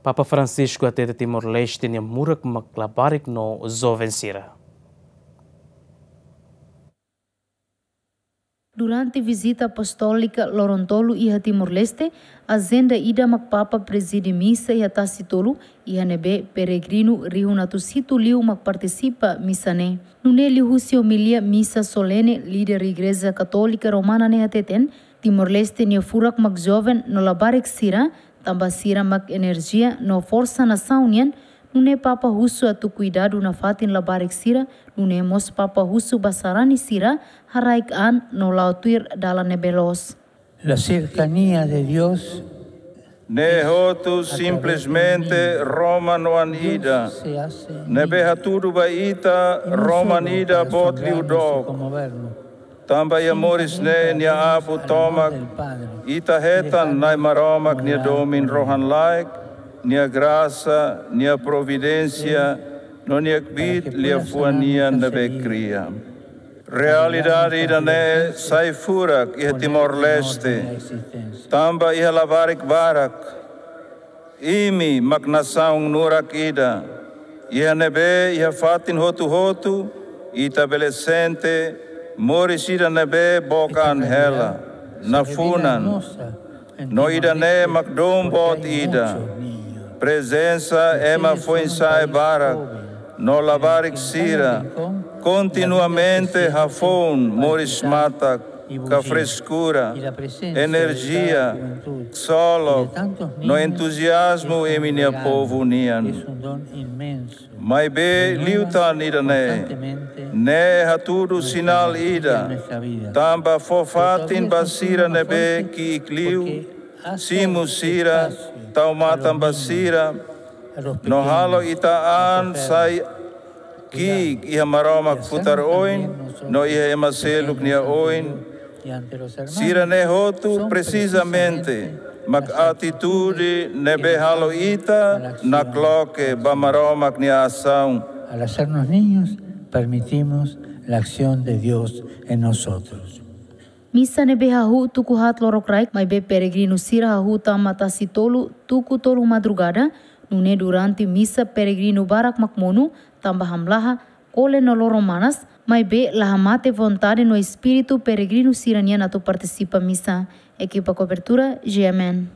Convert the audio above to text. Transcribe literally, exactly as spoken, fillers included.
Papa Francisco hatete Timor-Leste nia murak mak labarik no joven sira. Durante vizita apostólika loron tolu iha Timor-Leste, ajenda ida mak Papa prezide misa iha Tasi Tolu, iha ne'ebé peregrinu rihun atus hitu liu mak partisipa misa ne'e. Nune'e liuhusi omilia misa solene, líder Igreja Katólika Romana ne'e hateten, Timor-Leste nia furak mak joven no labarik sira, tanba sira mak enerjia no forsa nasaun nian, nune'e Papa husu atu kuidadu nafatin labarik sira, nune'e mós Papa husu ba sarani sira, haraik an no la'o tuir dalan ne'ebé loos. La cercanía de Dios Ne'e hotu simplesmente Roma no an ida. Ne'ebé hatudu ba ita, Roma an ida boot liu dook. Tanba iha moris ne'e nia abu tomak, ita hetan Na'i Maromak nia domin rohan-laek, nia grasa, nia providénsia, no nia kbiit liafuan nian ne'ebé kria. Realidade ida-ne'e sai furak iha Timor-Leste, tanba iha labarik barak, imi mak nasaun nurak ida, iha ne'ebé iha fatin hotu-hotu, ita bele sente moris ida ne'ebé book an hela, nafunan. No ida-ne'e mak dom boot ida. Prezensa ema foin-sa'e barak no labarik sira kontinuamente hafoun moris matak ka freskura, enerjia, ksolok no entuziazmu imi-nia povu nian. Maibé liután ida-ne'e, ne'e hatudu sinál ida, tanba fó fatin ba sira ne'ebé ki'ik liu, simu sira, tau matan ba sira, no halo ita an sai ki'ik iha Maromak futar oin, no iha ema seluk nia oin, sira-ne'e hotu presizamente mak atitude ne'ebé halo ita nakloke ba Maromak nia asaun. Al hacernos niños, permitimos la acción de Dios en nosotros. Misa ne'ebé hahú tuku haat lorokraik, maibé peregrinu sira hahú tama Tasi Tolu tuku tolu madrugada, nune'e durante misa peregrinu barak mak monu, tanba hamlaha, kole no loron manas, maibé la hamate vontade no espíritu peregrinu sira-nian atu partisipa misa. Ekipa kobertura, G M N.